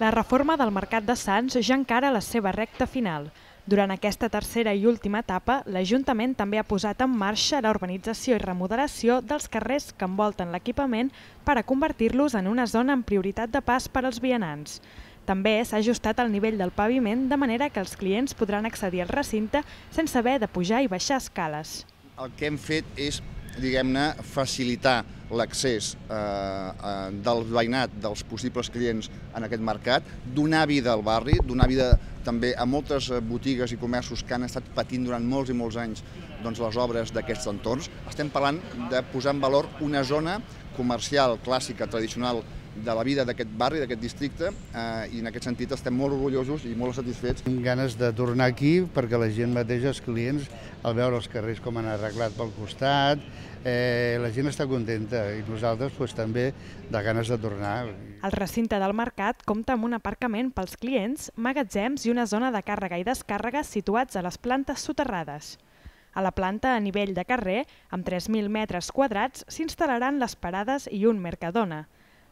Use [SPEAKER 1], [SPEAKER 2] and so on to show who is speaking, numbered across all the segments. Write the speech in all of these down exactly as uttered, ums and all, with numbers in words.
[SPEAKER 1] La reforma del Mercat de Sants ja encara la seva recta final. Durant aquesta tercera i última etapa, l'Ajuntament també ha posat en marxa la urbanització i remodelació dels carrers que envolten l'equipament per a convertir-los en una zona amb prioritat de pas per als vianants. També s'ha ajustat el nivell del paviment de manera que els clients podran accedir al recinte sense haver de pujar i baixar escales.
[SPEAKER 2] El que hem fet és, diguem-ne, facilitar l'accés eh, del veïnat, dels possibles clients en aquest mercat, donar vida al barri, donar vida també a moltes botigues i comerços que han estat patint durant molts i molts anys doncs, les obres d'aquests entorns. Estem parlant de posar en valor una zona comercial, clàssica, tradicional, de la vida d'aquest barri, d'aquest districte, eh, i en aquest sentit estem molt orgullosos i molt satisfets.
[SPEAKER 3] Tinc ganes de tornar aquí perquè la gent mateix, els clients, al veure els carrers com han arreglat pel costat, eh, la gent està contenta i nosaltres pues, també de ganes de tornar.
[SPEAKER 1] El recinte del mercat compta amb un aparcament pels clients, magatzems i una zona de càrrega i descàrrega situats a les plantes soterrades. A la planta a nivell de carrer, amb tres mil metres quadrats, s'instal·laran les parades i un Mercadona.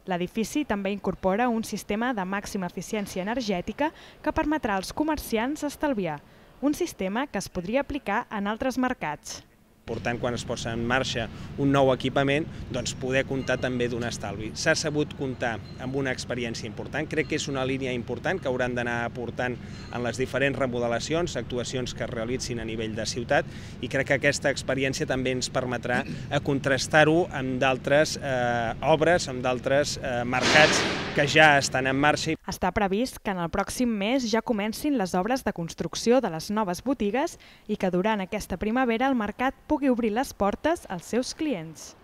[SPEAKER 1] L'edifici també incorpora un sistema de màxima eficiència energètica que permetrà als comerciants estalviar, un sistema que es podria aplicar en altres mercats.
[SPEAKER 4] Important quan es posa en marxa un nou equipament, doncs poder comptar també d'un estalvi. S'ha sabut comptar amb una experiència important, crec que és una línia important que hauran d'anar aportant en les diferents remodelacions, actuacions que es realitzin a nivell de ciutat, i crec que aquesta experiència també ens permetrà contrastar-ho amb d'altres eh, obres, amb d'altres eh, mercats que ja estan en marxa.
[SPEAKER 1] Està previst que en el pròxim mes ja comencin les obres de construcció de les noves botigues i que durant aquesta primavera el mercat pugui obrir les portes als seus clients.